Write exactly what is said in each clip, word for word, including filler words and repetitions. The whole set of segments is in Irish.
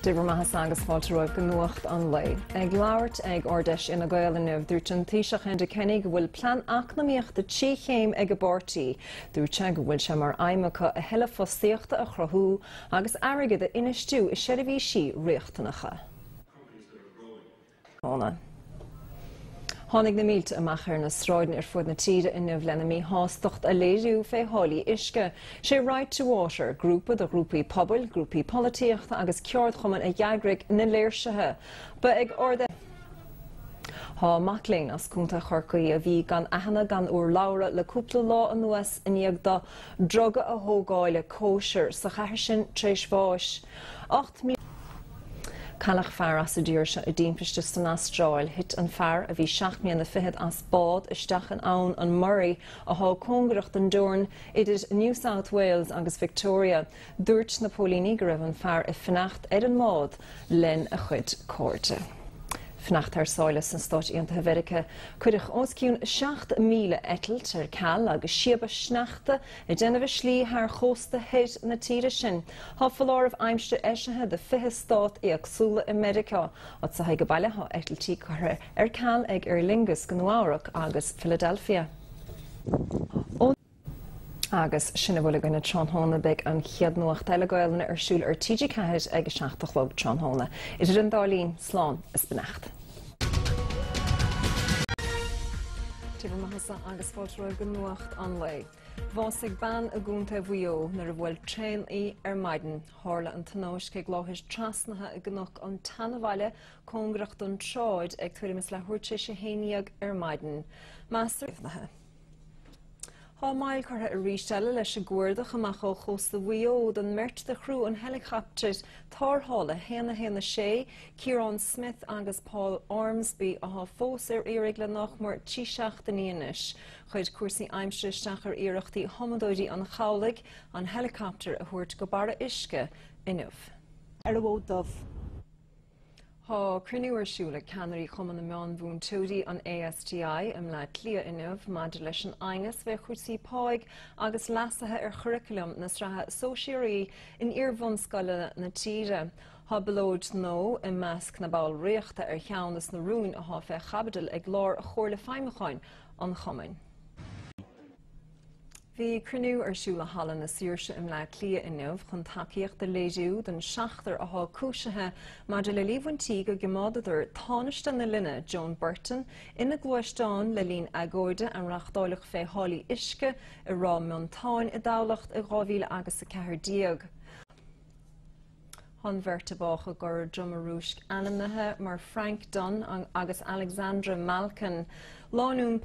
Dé bhur mbeatha agus fáilte romhaibh go Nuacht an Lae. Ag labhairt ag Ard-Fheis Fhine Gael inniu, dúirt an Taoiseach Enda Kenny go bhfuil plean eacnamaíochta trí chéim ag a bpáirtí. Dúirt sé go bhfuil sé mar aidhm acu a thuilleadh fostaíochta a chruthú agus airgead a infheistiú i seirbhísí riachtanacha. Óna. Tháinig na mílte amach ar na sráideanna ar fud na tíre inniu lena míshástacht a léiriú fé tháillí uisce. Sé Right to Water, grúpa de ghrúpaí pobail, grúpaí polaitíochta agus ceardchumainn a d'eagraigh na léirsithe. Ba ag ard Tá mac léinn as Contae Chorcaí a bhí gan aithne gan urlabhra le cúpla lá anuas i ndiaidh dó druga a thógáil ag cóisir sa chathair sin tar éis bháis. Ocht mí Cailleadh fear as an dtír seo i dtimpiste san Astráil, thit an fear a bhí seacht mbliana fichead as bád isteach in abhainn an Murray atá cóngarach don dteorainn idir New South Wales agus Victoria. Dúirt na póilíní go raibh an fear ag fanacht ar an mbád lena chuid cairde. Fanacht thar sáile sna Stáit Aontaithe Mheiriceá, cuireadh os cionn seacht míle eitilt ar ceal agus síobadh sneachta ag déanamh a slí thar chósta thoir na tíre sin. Tá foláireamh aimsire eisithe do fiche stát éagsúla i Meiriceá. Anseo ag baile tá eitiltí curtha ar ceal ag Aer Lingus go Nua-Eabhrac agus Philadelphia. Agus sin a bhfuil againne tráthnóna beidh an chéad nuacht eile Gaelainne ar siúl ar TG Ceathair ag a seacht a chlog tráthnóna. Idir an dá linn slán is beannacht. Dé bhur mbeatha agus fáilte romhaibh go Nuacht an Lae. Bhásaigh bean i gContae Mhaigh Eo nuair a bhuail traein í ar maidin. Tharla an tionóisc ag láthair trasnaithe i gCnoc an tSeanabhaile cóngarach don tsráid ag tuairim is leathuair tar éis a haon déag ar maidin. Meastar Tá moill curtha arís eile leis an gcuardach amach ó chósta Mhaigh Eo don mbeirt de chriú an heileacaptair tarrthála haon a haon a sé, Ciarán Smith agus Paul Ormsby atá fós ar iarraidh le nach mór trí seachtainí anois. Chuir cúrsaí aimsire isteach ar iarrachtaí thumadóirí an chabhlaigh an heileacaptar a thabhairt go barra uisce inniu. Ar an bhfód dubh. Tá cruinniú ar siúl ag ceannairí Chumann na Meánmhúinteoirí an ASTI i mBleá Cliath inniu maidir leis an aighneas fé chúrsaí páigh agus leasuithe ar churaclam na sraithe sóisearaí in iar-bhunscoileanna na tíre. Tá bileoid nó i measc na ballraíochta ar cheann de na rúin atá fé chaibidil ag lár Chomhairle Feidhmiúcháin an Chumainn. Bhí cruinniú ar siúl i Halla na Saoirse i mBleá Cliath inniu chun tacaíocht a léiriú don seachtar atá cúisithe maidir le líomhaintí go gcoimeádadar tánaiste na linne Joan Burton ina gluaisteán le linn agóide a reáchtáladh fé tháillí uisce i Ráth Miontáin i dTamhlacht i dhá mhíle agus a ceathair déag. An bheirt a bádh i gCora Droma Rúisc ainmnithe mar Frank Dunn agus Alexandra Malkin, lánúin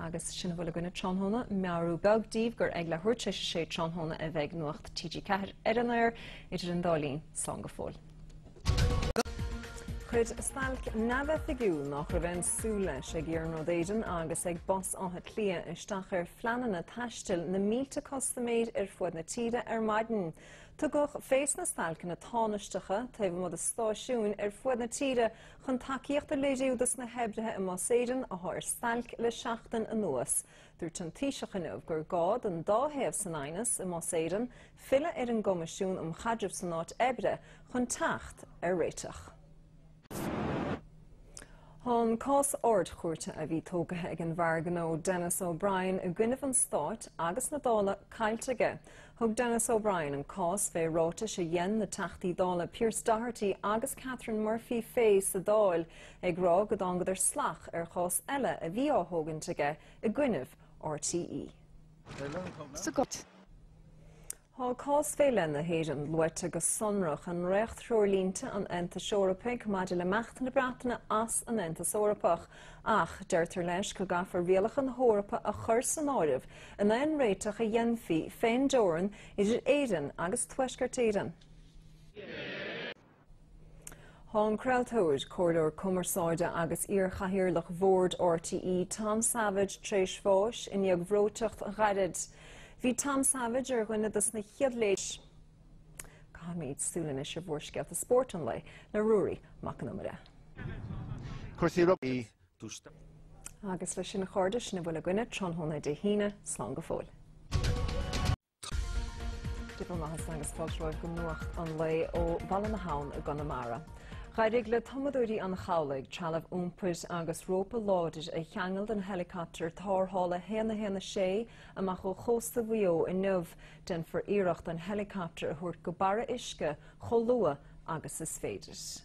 Agus sin a bhfuil againne tráthnóna, meabhrú beag daoibh gur ag leathuair tar éis a sé tráthnóna a bheidh Nuacht TG Ceathair ar an aer idir an dá linn, slán go fóill. Chuir stailc neamhoifigiúil nach raibh aon súil leis ag Iarnród Éireann agus ag Bus Átha Cliath isteach ar phleananna taistil na mílte custaiméir ar fud na tíre ar maidin. Tugadh fés na stailceanna tánaisteacha taobh amuigh de stáisiúin ar fud na tíre chun tacaíocht a léiriú dos na hoibrithe i mBus Éireann atá ar stailc le seachtain anuas. Dúirt an Taoiseach inniu gur gá don dá thaobh san aighneas i mBus Éireann filleadh ar an gCoimisiún um Chaidreamh san Áit Oibre chun teacht ar réiteach. Tá an cás ardchúirte a bhí tógtha ag an bhfear gnó Denis O'Brien i gcoinnibh an Stáit agus na Dála caillte aige. Thug Denis O'Brien an cás fé ráitis a dhein na Teachtaí Dála Pearse Doherty agus Catherine Murphy fé sa Dáil ag rá go dtángadar salach ar chás eile a bhí á thógaint aige i gcoinnibh RTÉ. Sa gcot. Tá cás fé leith na hÉireann luaite go sonrach i ndréacht-threoirlínte an Aontais Eorpaigh maidir le himeacht na Breataine as an Aontas Eorpach, ach deirtear leis go gcaithfear rialacha na hEorpa a chur san áireamh in aon réiteach a dhéanfaí fén dteorainn idir Éirinn agus Tuaisceart Éireann. Tá an craoltóir, comhairleoir cumarsáide agus iar-chathaoirleach Bhord RTÉ Tom Savage tar éis bháis i ndiaidh bhreoiteacht ghairid. Bhí Tom Savage ar dhuine dos na chéad léis. Caithfimid súil anois ar mhórscéalta spóirt an lae le Ruairí Mac an Iomaire. Cúrsaí rugbaí. Agus leis sin a chairde sin a bhfuil againne tráthnóna Dé hAoine, slán go fóill. Diplomathas agus fáilteoir go nuacht an lae ó Bhaile na hAbhann i gConamara. D'éirigh le tumadóirí an chabhlaigh trealamh iompair agus rópa láidir a cheangal den helicopter tarrthála haon a haon a sé amach ó chósta Mhaigh Eo inniu déanfar iarracht an helicopter a thabhairt go barra uisce chomh luath agus is féidir.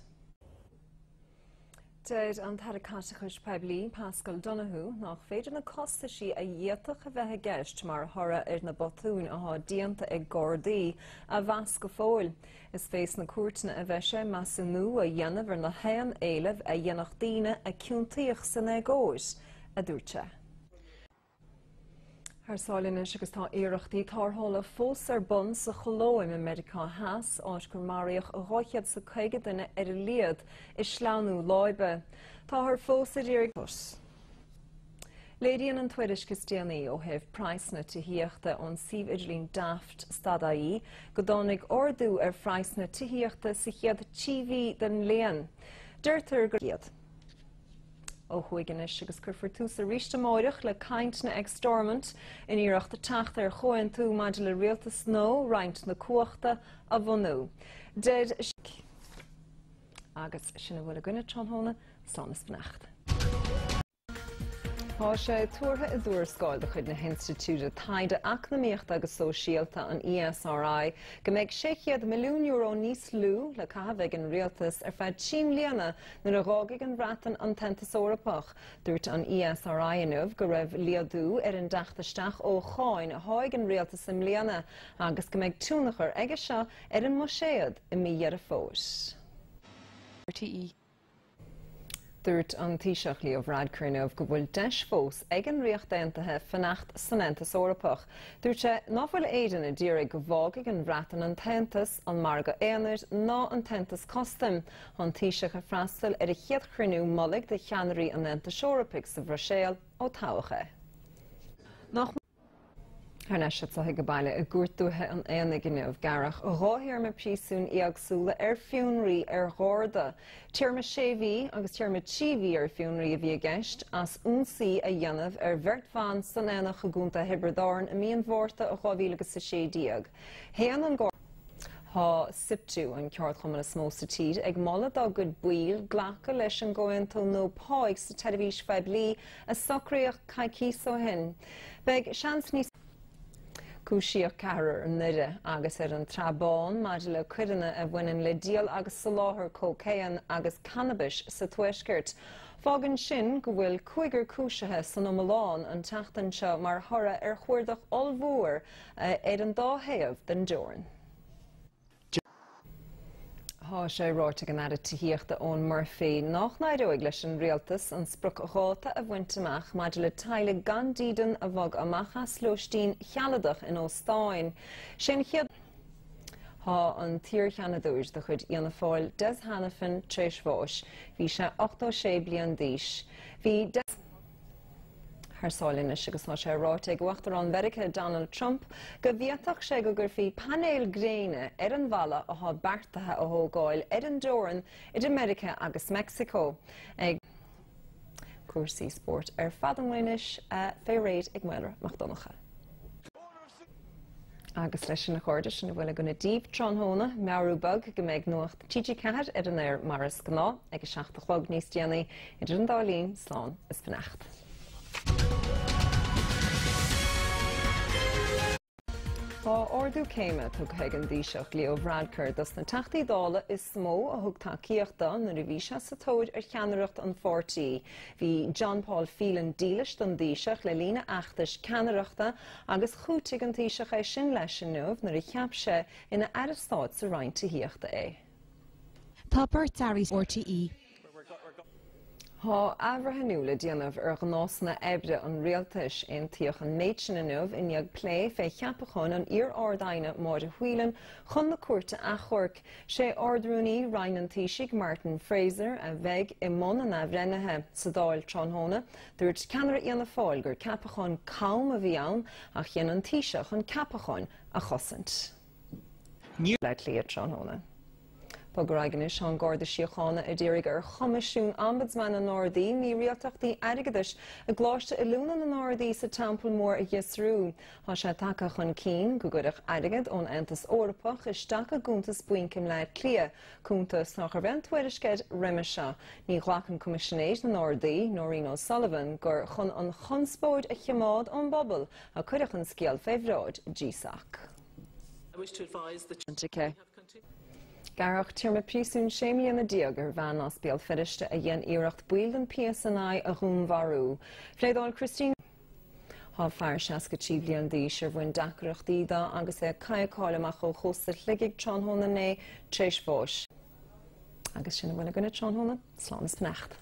Deir an tAire Caiteachais Poiblí Paschal Donohoe nach féidir na costaisí a d'fhéadfadh a bheith i gceist mar thoradh ar na botúin atá déanta ag Gardaí a mheas go fóill. Is fé sna cúirteanna a bheidh sé measúnú a dhéanamh ar na haon éilimh a dhéanfadh daoine a ciontaíodh san éagóir, a dúirt sé. Thar sáile anois agus tá iarrachtaí tarrthála fós ar bun sa Cholóim i Meiriceá Theas, áit gur maraíodh dhá chéad is caoga duine ar a laghad i sleamhnú láibe. Táthar fós ag iarraidh. Léiríonn an tuairisc is déanaí ó thaobh praghsanna tithíochta ón suíomh idirlín Daft stad I E go dtáinig ardú ar phraghsanna tithíochta sa chéad trí mhí den bhliain. Deirtear gur iad. Ó thuaidh anois agus cuirfear tús arís amárach le cainteanna ag Stormont in iarracht teacht ar chomhaontú maidir le rialtas nua roinnt na cumhachta a bhunú. Deir agus sin a bhfuil againne tráthnóna, slán is beannacht. Tá sé tuartha i dtuarascáil de chuid na hInstitiúide Taighde Eacnamaíochta agus Sóisialta an E S R I go mbeidh sé chéad milliún euro níos lú le caitheamh ag an rialtas ar feadh trí bliana nuair a d'fhágfaidh an Bhreatain an tAontas Eorpach. Dúirt an E S R I inniu go raibh laghdú ar an dteacht isteach ó cháin a tháinig an rialtas i mbliana agus go mbeidh tionchar aige seo ar an mbuiséad i mí Dheireadh Fómhair. R T E. Dúirt an Taoiseach Leo Varadkar inniu go bhfuil deis fós ag an Ríocht Aontaithe fanacht san Aontas Eorpach. Dúirt sé ná fuil Éirinn ag iarraidh go bhfágfaidh an Bhreatain an tAontas, an margadh aonair ná an tAontas Custaim. An Taoiseach ag freastal ar a chéad chruinniú mullaigh de cheannairí an Aontais Eorpaigh sa Bhruiséil ó toghadh é. Nach Thar n-éis go baile i gCúirt Dúiche an Aonaigh inniu gearradh dhá théarma príosúin éagsúla ar fionraí ar Gharda. Téarma sé mhí agus téarma trí mhí ar fionraí a bhí i gceist as ionsaí a dhéanamh ar bheirt bhan san Aonach i gContae Thiobraid Árann i mí an Mhárta dhá mhíle agus a sé déag. Shéan an Garda. Tá SIPTU, an ceardchumann is mó sa tír, ag moladh dá gcuid baill glacadh leis an gcomhaontú nua páí sa tseirbhís phoiblí a socraíodh coicís ó shin. Beidh seans níos Cúisíodh ceathrar i nDoire agus ar an tSrath Bán maidir le coireanna a bhaineann le díol agus soláthar cócaon agus cannabis sa tuaisceart. Fágann sin go bhfuil cúigear cúisithe san iomlán an tseachtain seo mar thoradh ar chuardach ollmhór ar an dá thaobh den dteorainn. Tá sé ráite ag an Aire Tithíochta Eoghan Murphy nach n-éireoidh leis an rialtas an spriocdháta a bhaint amach maidir le teaghlaigh gan dídean a bhog amach as lóistín shealadach in óstáin. Sin chéad Tá an t-iarSheanadóir de chuid Fhianna Fáil Des Hanafin tar éis bháis, bhí sé ochtó sé bliain d'aois. Bhí Des Thar sáile anois agus tá sé ráite ag Uachtarán Mheiriceá Donald Trump go bhféadfadh sé go gcuirfí painéil gréine ar an bhalla atá beartaithe a thógáil ar an dteorainn idir Meiriceá agus Meicsiceo. Ag cúrsaí spóirt ar fad an anois fé réir ag Maolra Mac Donncha. Agus leis sin a chairde, sin a bhfuil againne daoibh tráthnóna, meabhrú beag go mbeidh nuacht T G Ceathair ar an aer mar is gnáth ag a seacht a chlog níos déanaí. Idir an dá linn, slán is beannacht. Tá ardú céime tugtha ag an Taoiseach Leo Varadkar dos na Teachtaí Dála is mó a thug tacaíocht dó nuair a bhí sé sa tóir ar cheannaireacht an pháirtí. Bhí John Paul Phelan dílis don Taoiseach le linn a fheachtais ceannaireachta agus chúitigh an Taoiseach é sin leis inniu nuair a cheap sé ina aire stáit sa Roinn Tithíochta é. Tá beirt airí R T E. Tá athbhreithniú le déanamh ar ghnásanna oibre an rialtais. Aontaíodh an méid sin inniu i ndiaidh plé fé cheapachán an iar-Ard-Aighne Máire Whelan chun na Cúirte Achomhairc. Sé Ard-Rúnaí Roinn an Taoisigh Martin Fraser a bheidh i mbun an athbhreithnithe. Sa Dáil tráthnóna, dúirt ceannaire Fhianna Fáil gur ceapachán cam a bhí ann ach dhein an Taoiseach an ceapachán a chosaint. Le Cliath tráthnóna. Bográganis an Garda Síochána a d'iarraidh ar Choimisiún Ombudsman na nGardaí mírialtachtaí airgeadais i gColáiste Oiliúna na nGardaí sa Teampall Mór a fhiosrú. Tá sé tagtha chun cinn go gcuireadh airgead ón Aontas Eorpach isteach i gcuntas bainc i mBleá Cliath, cuntas nach raibh aon tuairisc air roimhe seo. Ní ghlacann Coimisinéir na nGardaí, Nóirín O'Sullivan, gur chun an chonspóid a choimeád ón bpobal a cuireadh an scéal fé bhráid GSOC. I wish to advise that Aici. Gearradh téarma príosúin sé mbliana déag ar bhean as Béal Feirste a dhein iarracht baill den P S N I a dhúnmharú. Phléadáil Christine. Tá fear seasca trí bliana d'aois ar bhain deacrachtaí dó agus é ag cadhcáil amach ó chósta Shligigh tráthnóna inné tar éis bháis. Agus sin a bhfuil againne tráthnóna, slán is beannacht.